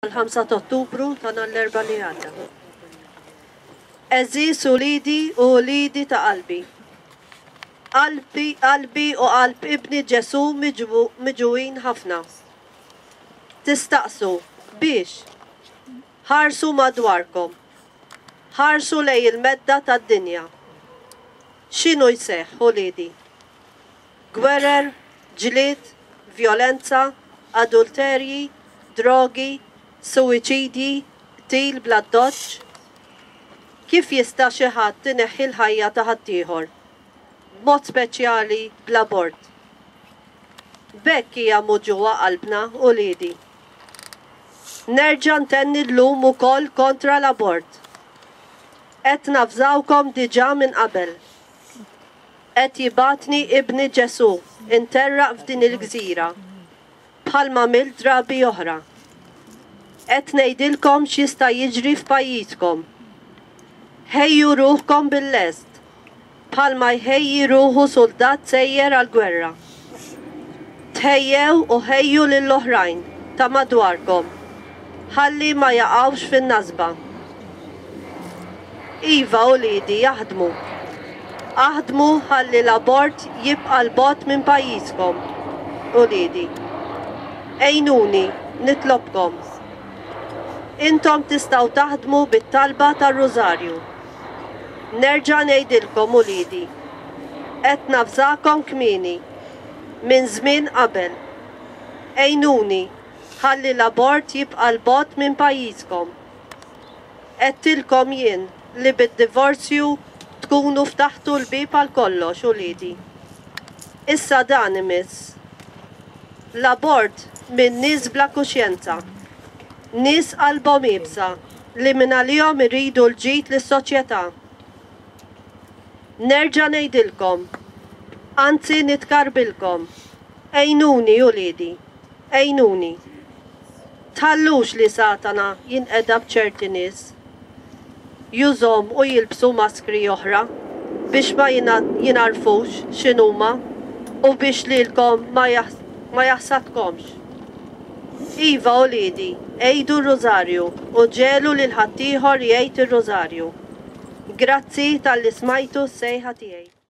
L-5 ta' Ottubru ta' nhar l-Erbgħa li għadda. Għeżież uliedi u uliedi ta' qalbi. Qalbi, qalbi u qalb ibni Ġesù miġugħin ħafna. Tistaqsu, biex? Ħarsu madwarkom. Ħarsu lejn il-medda tad-dinja. X'inhu jseħħ, uliedi? Gwerer, ġlied, vjolenza, adulterji, drogi, suwiċidji, qtil bl-addoċċ. Kif jista' xi ħadd ineħħi l-ħajja ta' ħaddieħor, b'mod speċjali bl-abort? B'hekk hija muġugħa qalbna, uliedi. Nerġa' ntenni llum ukoll kontra l-abort. Qed navżawkom diġà minn qabel. Qed jibgħatni ibni Ġesù nterraq f'din il-gżira, bħalma għamilt drabi oħra. Qed ngħidilkom x'jista' jiġri f'pajjiżkom. Ħejju ruħkom bil-lest, bħalma jħejji ruħu suldat sejjer għall-gwerra. Tħejjew u ħejju lill-oħrajn ta' madwarkom ħalli ma jaqgħux fin-nasba. Iva uliedi aħdmu. Aħdmu ħalli l-abort jibqa' 'l bogħod minn pajjiżkom, uliedi. Għinuni, nitlobkom. Intom tistgħu taħdmu bit-talba tar-Rużarju. Nerġa' ngħidilkom uliedi, qed navżakom kmieni, minn żmien qabel. Għinuni ħalli l-abort jibqa' 'l bogħod minn pajjiżkom. Għedtilkom jien li bid-divorzju tkunu ftaħtu l-bieb għal kollox, uliedi. Issa dan imiss. L-abort minn nies bla kuxjenza. Nies qalbhom iebsa li mingħalihom iridu l-ġid lis-soċjetà. Nerġa' ngħidilkom, anzi nitkarbilkom, għinuni uliedi, għinuni. Tħallux li Satana jinqeda b'ċerti nies. Jużhom u jilbsu maskri oħra biex ma jingħarfux x'inhuma u biex lilkom ma jaħsadkomx. Iva uliedi, għidu r-Rużarju u ġegħlu lil ħaddieħor jgħid ir-Rużarju. Grazzi talli smajtu s-sejħa tiegħi.